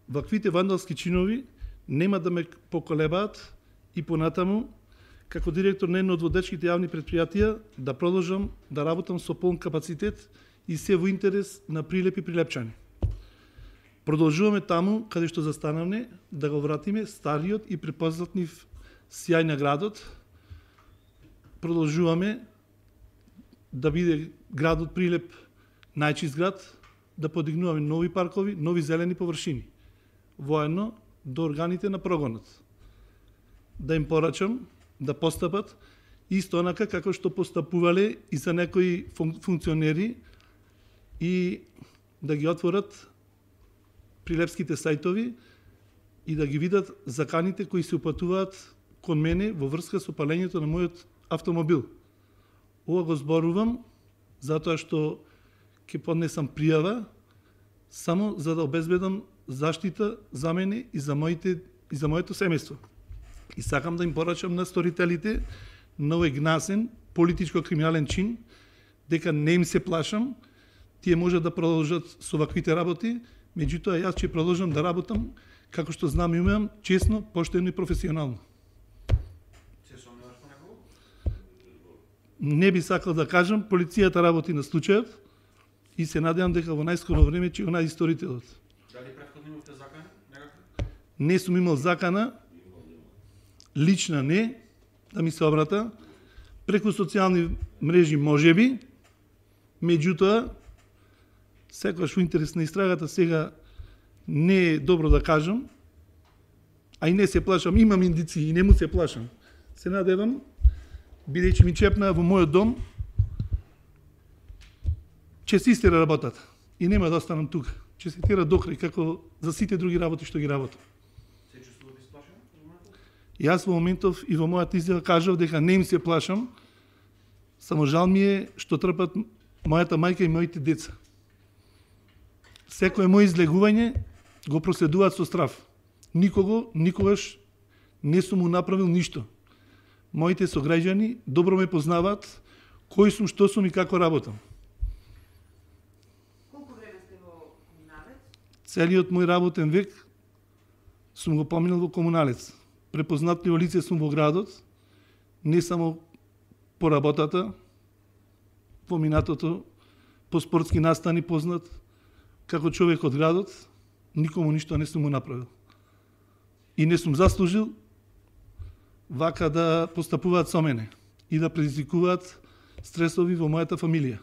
ваквите вандалски чинови нема да ме поколебаат и понатаму, како директор на едно од водечките јавни предпријатија, да продолжам да работам со полн капацитет и се во интерес на Прилеп и прилепчани. Продолжуваме таму каде што застанавме, да го вратиме стариот и препознатлив сјај на градот. Продолжуваме да биде градот Прилеп најчист град, да подигнуваме нови паркови, нови зелени површини, воедно до органите на прогонот. Да им порачам да постапат исто онака како што постапувале и за некои функционери и да ги отворат прилепските сајтови и да ги видат заканите кои се упатуваат кон мене во врска со палењето на мојот автомобил. Ова го зборувам затоа што ќе поднесам пријава само за да обезбедам заштита за мене и за моето семејство. И сакам да им порачам на сторителите на овој гнасен политичко-криминален чин, дека не им се плашам, тие може да продолжат со ваквите работи, меѓутоа јас ќе продолжам да работам како што знам и умеам, честно, поштено и професионално. Се сомневаш по некого? Не би сакал да кажам, полицијата работи на случајот и се надевам дека во најскоро време ќе го најде сторителот. Дали претходно имавте закани некакви? Не сум имал закана, лична не, да ми се обрата, преку социјални мрежи можеби, меѓутоа, секогаш во интерес на истрагата сега не е добро да кажам, а и не се плашам, имам индиции и не му се плашам. Се надевам, бидејќи ми чепна во мојот дом, ќе се истера работата и нема да останам тука. Ќе се тера докрај како за сите други работи што ги работам. Се чувствувате сплашен во моментов? Јас во моментов и во мојата изјава кажав дека не им се плашам, само жал ми е што трпат мојата мајка и моите деца. Секое моje излегување го проследуваат со страв. Никогаш не сум му направил ништо. Моите сограѓани добро ме познаваат, кој сум, што сум и како работам. Колку време сте во Комуналец? Целиот мој работен век сум го поминал во Комуналец. Препознатливо лице сум во градот, не само по работата, по минатото, по спортски настани познат, како човек од градот, никому ништо не сум му направил. И не сум заслужил вака да постапуваат со мене и да предизвикуваат стресови во мојата фамилија.